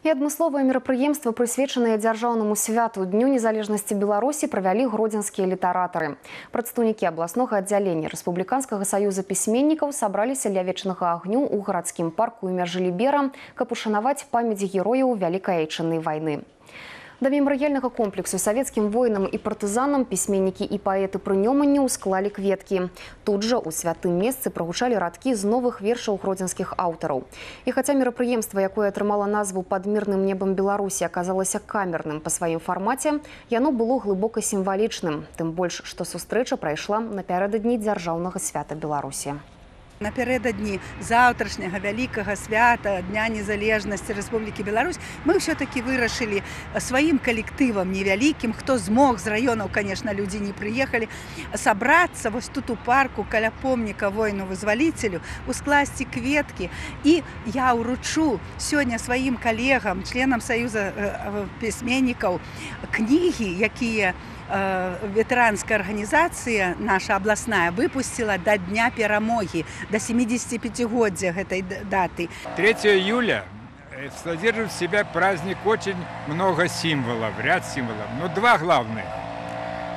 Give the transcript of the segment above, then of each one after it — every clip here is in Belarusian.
І адмысловае мерапрыемства, прысвечанае дзяржаўнаму святу Дню незалежнасці Беларусі, правялі гродзенскія літаратары. Прадстаўнікі абласнога аддзялення Рэспубліканскага саюза пісьменнікаў сабраліся ля вечнага агню ў гарадскім парку імя Жылібера, каб ушанаваць памяць герояў Вялікай Айчыннай вайны. Да мемарыяльнага комплексу савецкім воінам і партызанам пісьменнікі і паэты прынёмання ўсклалі кветкі. Тут жа ў святым месцы прагучалі радкі з новых вершаў гродзенскіх аўтараў. І хаця мерапрыемства, якое атрымала назву «Пад мірным небам Беларусі», аказалася камерным па сваім фармаце, яно было глыбока сімвалічным. Тым больш, што сустрэча прайшла напярэдадні дзяржаўнага свята Беларусі. Напярэдадні заўтрашняга вялікага свята Дня незалежнасці Рэспублікі Беларусь мы ўсё-такі вырашылі сваім калектывам невялікім, хто змог з раёнаў, конечно, людзі не прыехалі, сабрацца вось тут у парку каля помніка воіну-вызваліцелю, ускласці кветкі. І я ўручу сёння сваім калегам, членам Саюза пісьменнікаў, кнігі, якія ветэранская арганізацыя наша абласная выпусціла да Дня перамогі, до 75-годия этой даты. 3 июля содержит в себя праздник очень много символов, ряд символов. Но два главных.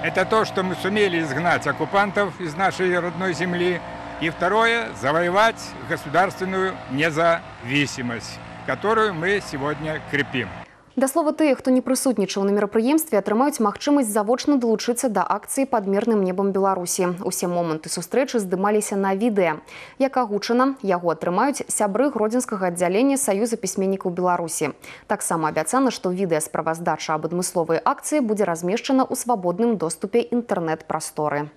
Это то, что мы сумели изгнать оккупантов из нашей родной земли. И второе – завоевать государственную независимость, которую мы сегодня крепим. Да слова, тыя, хто не прысутнічаў на мерапрыемстве, атрымаюць магчымасць завочна далучыцца да акцыі «Пад мірным небам Беларусі». Усе моманты сустрэчы здымаліся на відэа. Як агучана, яго атрымаюць сябры гродзенскага аддзялення Саюза пісьменнікаў Беларусі. Таксама абяцана, што відэасправаздача аб адмысловай акцыі будзе размешчана ў свабодным доступе інтэрнэт-прасторы.